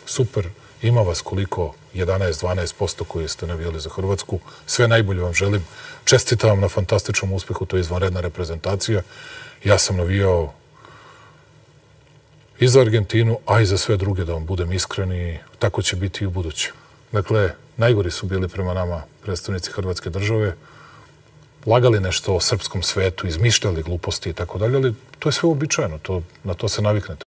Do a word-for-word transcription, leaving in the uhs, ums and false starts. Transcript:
Super, ima vas koliko, jedanaest do dvanaest posto koji ste navijali za Hrvatsku. Sve najbolje vam želim. Čestitam vam na fantastičnom uspehu, to je izvanredna reprezentacija. Ja sam navijao i za Argentinu, a i za sve druge, da vam budem iskren, i tako će biti i u buduće. Dakle, najgori su bili prema nama predstavnici Hrvatske države, lagali nešto o srpskom svetu, izmišljali gluposti i tako dalje, ali to je sve uobičajeno, to, na to se naviknete.